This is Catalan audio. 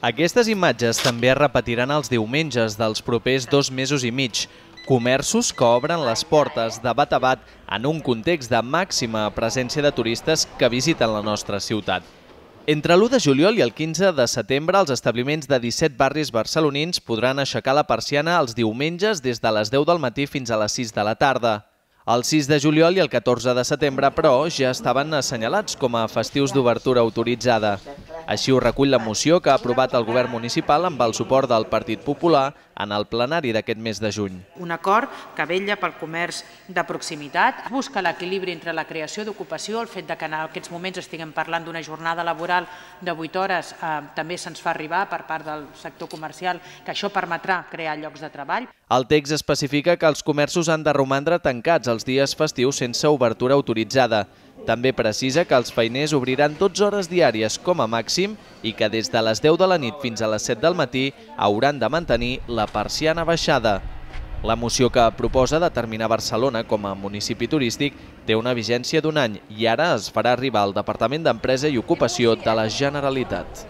Aquestes imatges també es repetiran els diumenges dels propers 2 mesos i mig. Comerços que obren les portes de bat a bat en un context de màxima presència de turistes que visiten la nostra ciutat. Entre l'1 de juliol i el 15 de setembre, els establiments de 17 barris barcelonins podran aixecar la persiana els diumenges des de les 10 del matí fins a les 6 de la tarda. El 6 de juliol i el 14 de setembre, però, ja estaven assenyalats com a festius d'obertura autoritzada. Així ho recull la moció que ha aprovat el govern municipal amb el suport del Partit Popular en el plenari d'aquest mes de juny. Un acord que vetlla pel comerç de proximitat, busca l'equilibri entre la creació d'ocupació, el fet que en aquests moments estiguem parlant d'una jornada laboral de 8 hores, també se'ns fa arribar per part del sector comercial que això permetrà crear llocs de treball. El text especifica que els comerços han de romandre tancats els dies festius sense obertura autoritzada. També precisa que els feiners obriran 12 hores diàries com a màxim i que des de les 10 de la nit fins a les 7 del matí hauran de mantenir la persiana baixada. La moció que proposa determinar Barcelona com a municipi turístic té una vigència d'1 any i ara es farà arribar al Departament d'Empresa i Ocupació de la Generalitat.